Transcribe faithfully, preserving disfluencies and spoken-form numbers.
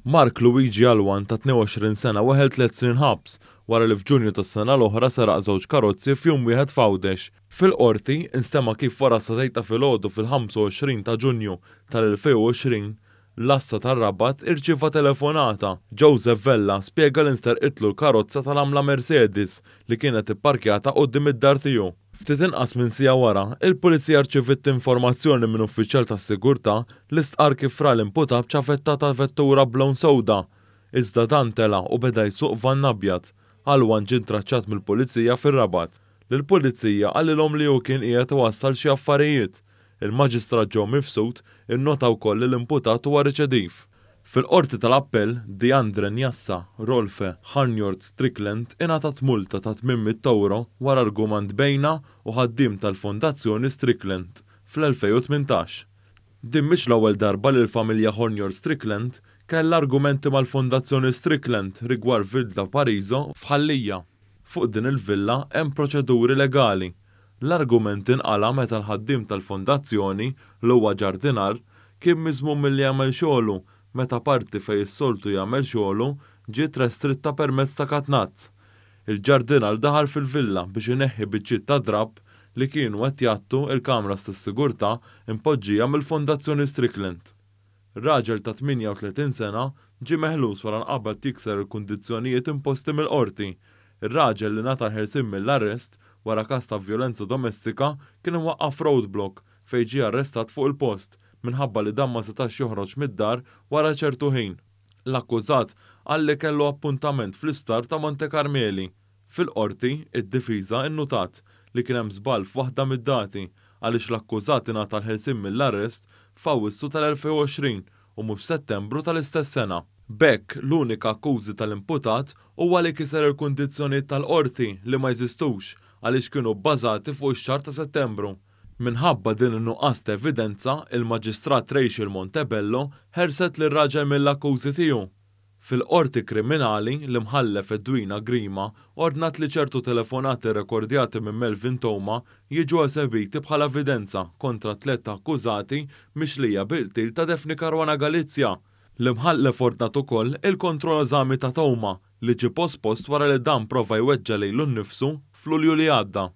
Mark Luigi Alwan ta' tnejn u għoxrin sena weħel tliet snin ħabs wara li f'Ġunju tas-sena l-oħra seraq żewġ karozzi f'jum wieħed f'Għawdex. Fil-qorti instema' kif wara s-sagħtejn ta' filgħodu fil-ħamsa u għoxrin ta' Ġunju tal-elfejn u għoxrin l-għassa tar-Rabat irċieva telefonata. Joseph Vella spjega li nsterqitlu l-karozza tal-għamla Mercedes li kienet ipparkjata quddiem id-dar tiegħu. Ftit inqas minn siegħa wara, il-pulizija rċeviet informazzjoni minn uffiċjal tas-sigurtà li stqar kif ra l-imputat b'ċavetta ta' vettura b'lewn sewda. Iżda dan tela u beda jsuq van abjad. Alwan ġie traċċat mill-pulizija fir-Rabat. Lill-pulizija qalilhom li hu kien qiegħed iwassal xi affarijiet. Il-Maġistrat Joe Mifsud innota wkoll li l-imputat huwa reċediv. Fil-qorti tal-appell, Diandre Njassa Rolfe Harnjord Strickland ingħatat multa ta' tmien mitt euro wara argument bejnha u ħaddiem tal-Fondazzjoni Strickland fl-elfejn u tmintax. Din mhix l-ewwel darba li l-familja Hornjord Strickland kellha argumenti mal-Fondazzjoni Strickland rigward Villa Pariso f'Ħal Lija. Fuq din il-villa hemm proċeduri legali. L-argument inqala meta l-ħaddiem tal-fondazzjoni, li huwa ġardinar, kien miżmum milli jagħmel xogħlu meta parti fejn is-soltu jagħmel xogħlu ġiet restritta permezz ta' katnazz. Il-ġardinar daħal fil-villa biex ineħħi biċċiet ta' drab li kienu qed jgħattu il-kameras tas-sigurtà impoġġija mill-Fondazzjoni Strickland. Raġel ta' tmienja u tletin sena ġie meħlus wara nqabad jikser il-kundizzjonijiet imposti mill-qorti. Ir-raġel, li ngħata l-ħelsien mill-arrest wara każ ta' vjolenza domestika, kien imwaqqaf roadblock fejn ġie arrestat fuq il-post minħabba li dan ma setax joħroġ mid-dar wara ċertu ħin. L-akkużat qal li kellu appuntament fl-isptar ta' Monte Carmeli. Fil-qorti, id-difiża innutat li kien hemm żball f'waħda mid-dati, għaliex l-akkużat ingħata l-ħelsien mill-arrest f'Awwissu tal-elfejn u għoxrin u mhux f'Settembru tal-istess sena. B'hekk, l-unika akkużi tal-imputat huwa li kiser il-kundizzjonijiet tal-qorti li ma jeżistux, għaliex kienu bbażati fuq ix-xahar ta' Settembru. Minħabba din in-nuqqas ta' evidenza, il-Maġistrat Rachel Montebello ħelset lir-raġel mill-akkużi tiegħu. Fil-qorti kriminali, l-imħallef Edwina Grima ordnat li ċertu telefonati rekordjati minn Melvin Theuma jiġu esebiti bħala evidenza kontra tliet akkużati mixlija bil-qtil ta' Daphne Caruana Galizia. L-imħallef ordnat ukoll il-kontroeżami ta' Theuma, li ġie pospost wara li dan prova jweġġa lilu nnifsu f'Lulju li għadda.